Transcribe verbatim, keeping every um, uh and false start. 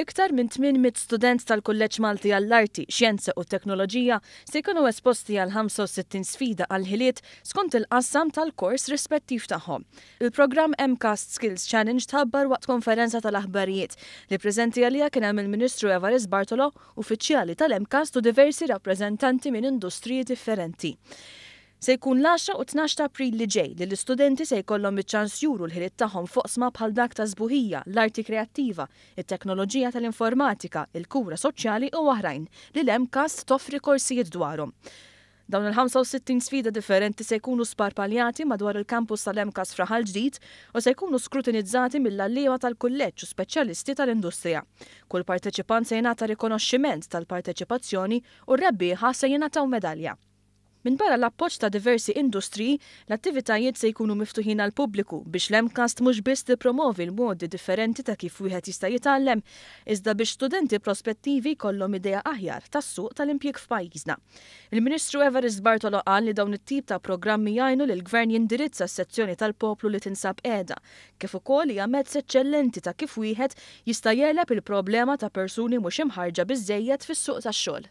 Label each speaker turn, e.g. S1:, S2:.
S1: Iktar minn tmien mitt student tal-Kulleġġ Malti għall-Arti, Xjenza u Teknoloġija se jkunu esposti għal ħamsa u sittin sfida għal ħiliet skont il-qassam tal-kors rispettiv tagħhom. Il-programm MCAST Skills Challenge tħabbar waqt konferenza tal-aħbarijiet li preżenti għaliha kien hemm il-Ministru Evarist Bartolo, uffiċjali tal-MCAST u diversi rappreżentanti minn industriji differenti. Se jkun l-għaxra u tnax ta' April li ġej li l-istudenti se jkollhom iċ-ċans juru l-ħiliet tagħhom f'oqsma bħal dak ta' sbuħija, l-arti kreattiva, it-teknoloġija tal-informatika, il-kura soċjali u oħrajn li l-MCAST toffri korsijiet dwarhom. Dawn il-ħamsa u sittin sfida differenti se jkunu sparpaljati madwar il-kampus tal-MCAST f'Raħal Ġdid u se jkunu skrutinizzati mill-għalliema tal-kulleġġ u speċjalisti tal-industrija. Kull parteċipant se jingħata rikonoxximent tal-parteċipazzjoni u r-rebbieħa se jingħataw medalja. Minn barra l-appoġġ ta' diversi industriji, l-attivitajiet se jkunu miftuħin għal pubbliku biex l-MCAST mhux biss tippromovi l-modi differenti ta' kif wieħed jista' jitgħallem, iżda biex studenti prospettivi jkollhom idea aħjar tas-suq tal-impjieg f'pajjiżna. Il-Ministru Evarist Bartolo qal li dawn it-tip ta' programmi jgħinu lil gvern jindirizza s-sezzjoni tal-poplu li tinsab qiegħda, kif ukoll hija mezz eċċellenti ta' kif wieħed jista' jegħleb il-problema ta' persuni mhux imħarġa biżżejjed fis-suq tax-xogħol.